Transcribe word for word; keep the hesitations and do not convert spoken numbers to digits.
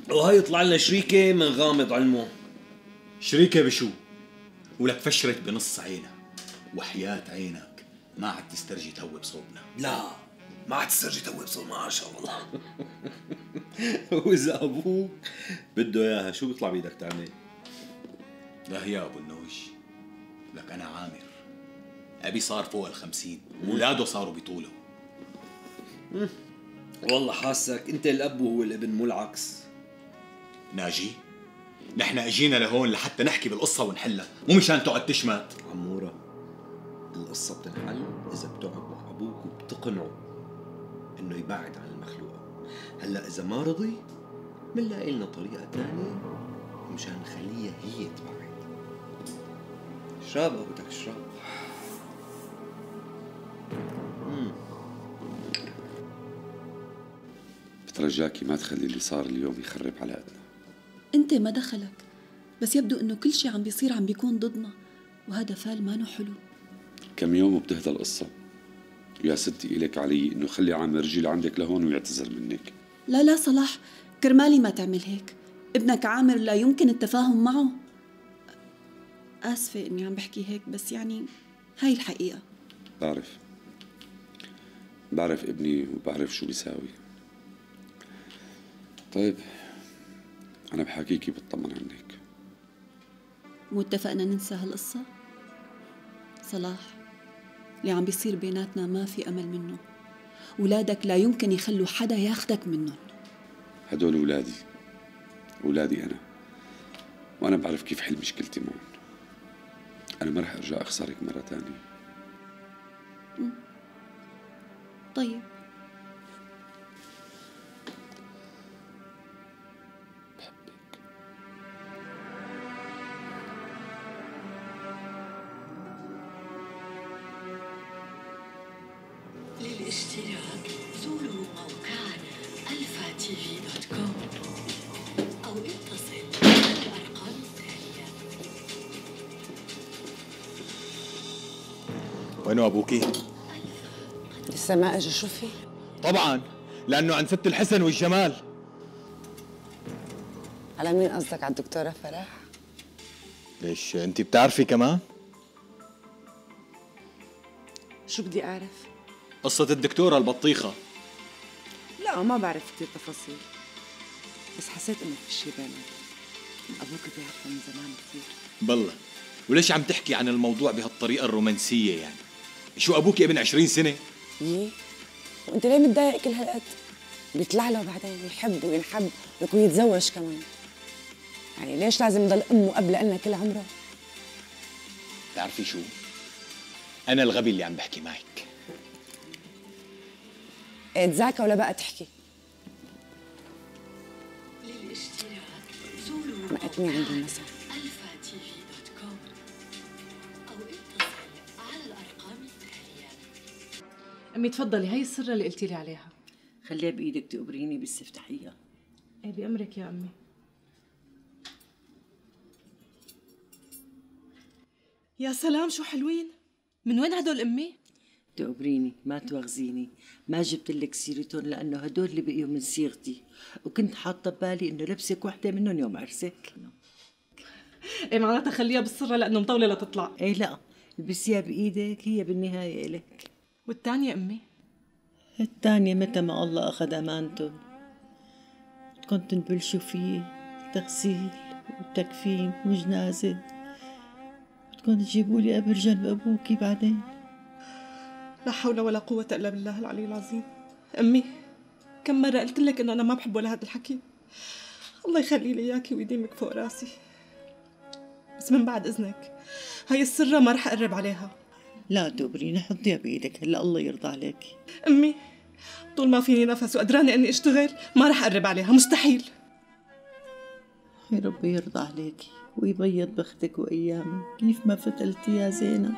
وهي يطلع لنا شريكة من غامض علمه. شريكة بشو؟ ولك فشرت بنص عينك، وحياة عينك ما عاد تسترجي تهوي بصوبنا. لا ما عاد تسترجي تهوي بصوبنا ما شاء الله. وإذا أبوك بده إياها شو بيطلع بيدك تعمل؟ لا يا أبو النوش، لك أنا عامر، أبي صار فوق الخمسين، ولاده صاروا بطوله. والله حاسك أنت الأب وهو الابن مو العكس. ناجي، نحن اجينا لهون لحتى نحكي بالقصة ونحلها، مو مشان تقعد تشمت. عمورة، القصة بتنحل إذا بتقعد مع أبوك وبتقنعه إنه يبعد عن المخلوقة. هلا إذا ما رضي منلاقي لنا طريقة تانية مشان نخليها هي تبعد. اشرب بدك اشرب. بترجاكي ما تخلي اللي صار اليوم يخرب علاقتنا. انت ما دخلك، بس يبدو انه كل شيء عم بيصير عم بيكون ضدنا، وهذا فال ما حلو. كم يوم وبتهدى القصة، ويا ستي إليك علي إنه خلي عامر يجي لعندك لهون ويعتذر منك. لا لا صلاح، كرمالي ما تعمل هيك. ابنك عامر لا يمكن التفاهم معه. آسفة إني عم بحكي هيك، بس يعني هاي الحقيقة. بعرف بعرف ابني وبعرف شو بيساوي. طيب أنا بحكيكي بطمن عنك. واتفقنا ننسى هالقصة؟ صلاح، اللي عم بيصير بيناتنا ما في أمل منه. أولادك لا يمكن يخلوا حدا ياخدك منهم. هدول أولادي، أولادي أنا، وأنا بعرف كيف حل مشكلتي معهم. أنا ما رح أرجع أخسرك مرة تانية. طيب بحبك. للاشتراك زوروا موقعنا ألفا تي في دوت كوم أو اتصل على الأرقام التالية. وينو أبوكي؟ لسه ما اجى. شو في؟ طبعا لأنه عن ست الحسن والجمال. على مين قصدك؟ على الدكتورة فرح؟ ليش أنت بتعرفي كمان؟ شو بدي أعرف؟ قصة الدكتورة البطيخة. لا ما بعرف كتير تفاصيل، بس حسيت إنه في شي بيناتهم. أبوك بيعرفها من زمان كتير. بالله، وليش عم تحكي عن الموضوع بهالطريقة الرومانسية يعني؟ شو أبوك ابن عشرين سنة؟ يي، وأنت ليه متضايق كل هالقد؟ بيطلع له بعدين يحب وينحب ويكون يتزوج كمان. يعني ليش لازم يضل أمه قبل لنا كل عمره؟ بتعرفي شو؟ أنا الغبي اللي عم بحكي معك. إيه تذاكى ولا بقى تحكي؟ للاشتراك زوروا مقتني عندي المسا. ألفا تي في دوت كوم أو اتصل على الأرقام التالية. أمي تفضلي، هي السرة اللي قلتي لي عليها. خليها بإيدك تقبريني بس افتحيها. ايه بأمرك يا أمي. يا سلام شو حلوين. من وين هدول أمي؟ تقبريني ما تواخذيني، ما جبت لك سيرتهم لأنه هدول اللي بقيوا من صيغتي، وكنت حاطة ببالي إنه لبسك وحدة منهم يوم عرسك. ايه معناتها خليها بالسرة لأنه مطولة لتطلع. ايه لا، البسيها بإيدك، هي بالنهاية إلك. والتانية أمي؟ الثانية متى ما الله أخذ أمانته بدكم تنبلشوا فيه تغسيل وتكفين وجنازة، بدكم تجيبوا لي قبر جنب أبوكي بعدين. لا حول ولا قوة إلا بالله العلي العظيم. أمي كم مرة قلت لك إنه أنا ما بحب ولا هذا الحكي. الله يخلي لي إياكي ويديمك فوق راسي، بس من بعد إذنك هاي السرة ما رح أقرب عليها. لا تقبريني، حطيها بإيدك هلا الله يرضى عليكي. أمي طول ما فيني نفس وقدرانة إني أشتغل ما رح أقرب عليها، مستحيل. يا رب يرضى عليكي ويبيض بختك وأيامك كيف ما فتلتي يا زينب.